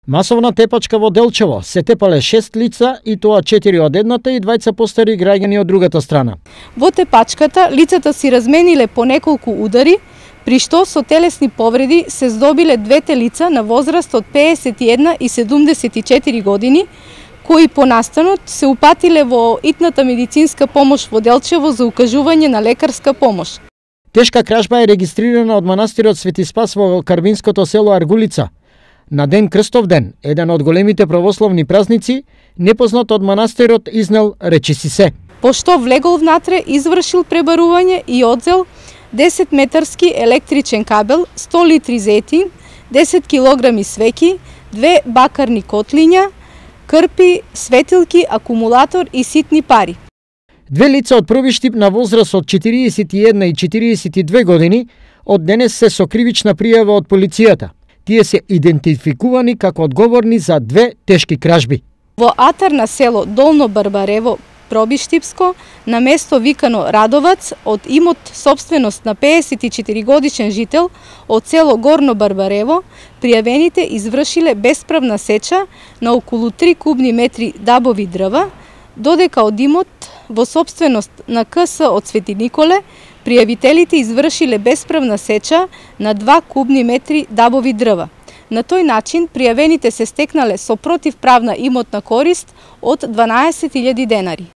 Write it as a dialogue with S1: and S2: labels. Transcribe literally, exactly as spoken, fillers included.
S1: Масовна тепачка во Делчево. Се тепале шест лица и тоа четири од едната и двајца постари граѓани од другата страна.
S2: Во тепачката лицата си размениле по неколку удари, при што со телесни повреди се здобиле двете лица на возраст од пеесет и една и седумдесет и четири години, кои по настанот се упатиле во итната медицинска помош во Делчево за укажување на лекарска помош.
S1: Тешка кражба е регистрирана од манастирот Свети Спас во карбинското село Аргулица. На ден Крстовден, еден од големите православни празници, непознат од манастирот изнел речиси се.
S2: Пошто влегол внатре, извршил пребарување и одзел десет метарски електричен кабел, сто литри зетин, десет килограми свеќи, две бакарни котлиња, крпи, светилки, акумулатор и ситни пари.
S1: Две лица од први штип на возраст од четириесет и една и четириесет и две години од денес се со кривична пријава од полицијата. Тие се идентификувани како одговорни за две тешки кражби.
S2: Во атар на село Долно Барбарево, Пробиштипско, на место викано Радовац, од имот собственост на пеесет и четири годишен жител од село Горно Барбарево, пријавените извршиле бесправна сеча на околу три кубни метри дабови дрва, додека од имот во собственост на КС од Свети Николе, пријавителите извршиле бесправна сеча на два кубни метри дабови дрва. На тој начин пријавените се стекнале со противправна имотна корист од дванаесет илјади денари.